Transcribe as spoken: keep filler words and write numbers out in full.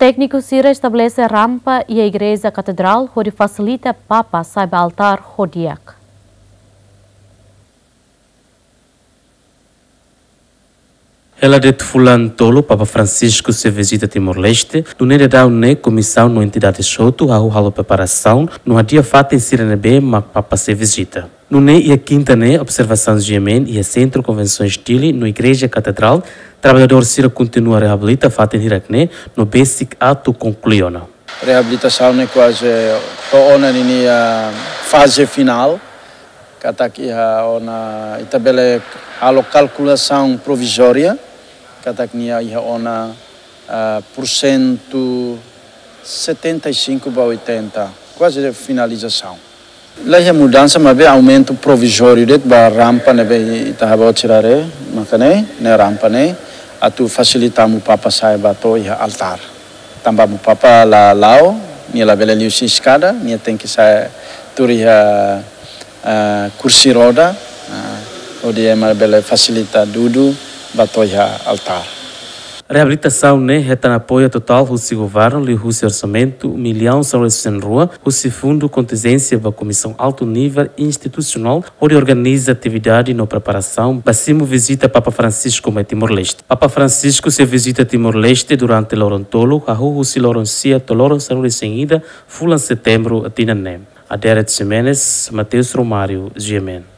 Tékniku sira estabelese rampa iha Igreja Katedrál hodi fasilita Papa sa'e ba altár ho di'ak. Hela de'it fulan tolu Papa Francisco sei vizita Timor-Leste, nune'e daudaun ne'e komisaun no entidade hotu hahú halo preparasaun no hadi'a fatin sira ne'ebé mak Papa sei vizita. Nune'e iha kinta ne'e observasaun GMN iha Sentru Konvensoens Dili no Igreja Katedrál, traballadór sira kontinua reabilita fatin hirak ne'e no besik atu konklui ona. Reabilitasaun ne'e kuaze to'o ona ninia faze finál, katak iha ona ita bele halo kalkulasaun provizória, katak nia iha ona, ah, porsentu setenta e cinco ba oitenta, kuaze finalizasaun. La iha mudansa, maibé aumentu provizóriu de'it ba rampa ne'ebé ita haba otsirare, maka ne'e, ne'e rampa ne'e, atu fasilita Amu Papa sa'e ba to'o iha altár. Tanba Amu Papa la la'o, nia labele liu husi eskada, nia tenke sa'e tuur iha, ah, kursi roda, ah, hodi ema bele fasilita dudu ba to'o iha altár. Reabilitasaun ne'e hetan apoiu totál husi governu liuhusi orsamentu millaun sanulu-resin-rua husi Fundu Kontinjénsia ba Komisaun Altu Nivel Institusionál hodi organiza atividade no preparasaun ba simu vizita Papa Francisco mai Timor-Leste. Papa Francisco sei vizita Timor-Leste durante loron tolu, hahú husi loron sia to'o loron sanulu-resin-ida fulan Setembru tinan ne'e. Aderet Ximenes, Mateus Romário, GMN.